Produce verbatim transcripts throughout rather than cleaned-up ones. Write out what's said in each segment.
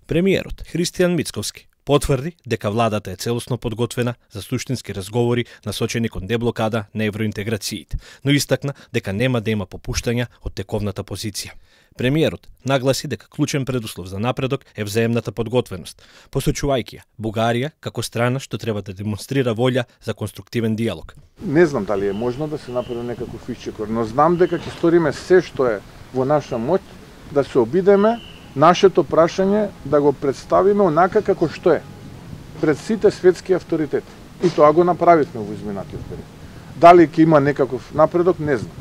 Премиерот Христијан Мицковски потврди дека владата е целосно подготвена за суштински разговори насочени кон деблокада на евроинтеграциите, но истакна дека нема да има попуштања од тековната позиција. Премиерот нагласи дека клучен предуслов за напредок е взаемната подготвеност, посочувајќи ја Бугарија како страна што треба да демонстрира волја за конструктивен диалог. Не знам дали е можно да се направи некаков исчекор, но знам дека ќе сториме се што е во наша моќ да се обидеме нашето прашање да го представиме онака како што е пред сите светски авторитети. И тоа го направивме во изминатиот период. Дали ќе има некаков напредок, не знам.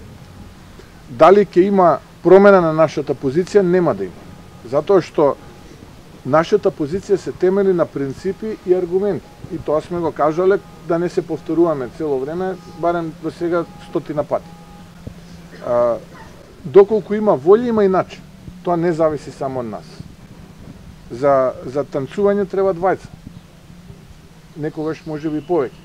Дали ќе има промена на нашата позиција, нема да има. Затоа што нашата позиција се темели на принципи и аргументи. И тоа сме го кажале да не се повторуваме цело време, барем до сега стотина пати. А, доколку има волја, има и начин. Тоа не зависи само од нас. За, за танцување треба двајца. Некогаш може би повеќе.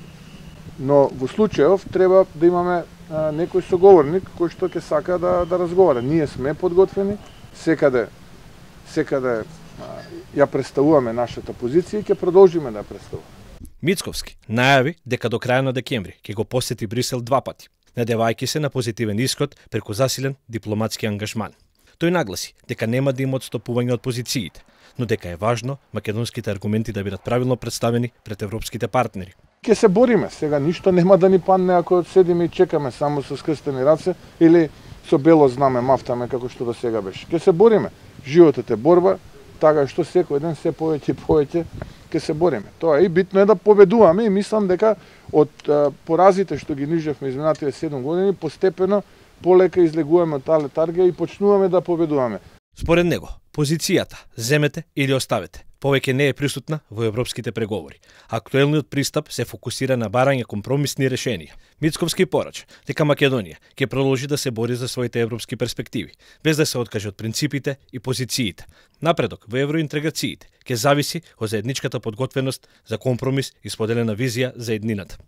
Но во случајов треба да имаме а, некој соговорник кој што ќе сака да, да разговара. Ние сме подготвени, секаде, секаде а, ја представуваме нашата позиција и ќе продолжиме да ја представуваме. Мицковски најави дека до крај на декември ќе го посети Брисел два пати, надевајќи се на позитивен исход преку засилен дипломатски ангажман. Тој нагласи дека нема да има отстапување од позициите, но дека е важно македонските аргументи да бидат правилно представени пред европските партнери. Ке се бориме, сега ништо нема да ни падне ако седиме и чекаме само со скрстени раце или со бело знаме мафтаме како што до сега беше. Ке се бориме. Животот е борба, така што секој ден се повеќе и повеќе ке се бориме. Тоа е и битно е да победуваме и мислам дека од а, поразите што ги нижевме изминатите седум години постепено полека излегуваме од таа летаргија и почнуваме да победуваме. Според него, позицијата земете или оставете повеќе не е присутна во европските преговори. Актуелниот пристап се фокусира на барање компромисни решенија. Мицковски порача дека Македонија ќе продолжи да се бори за своите европски перспективи, без да се откаже од принципите и позициите. Напредок во евроинтеграциите ќе зависи од заедничката подготвеност за компромис и споделена визија за еднината.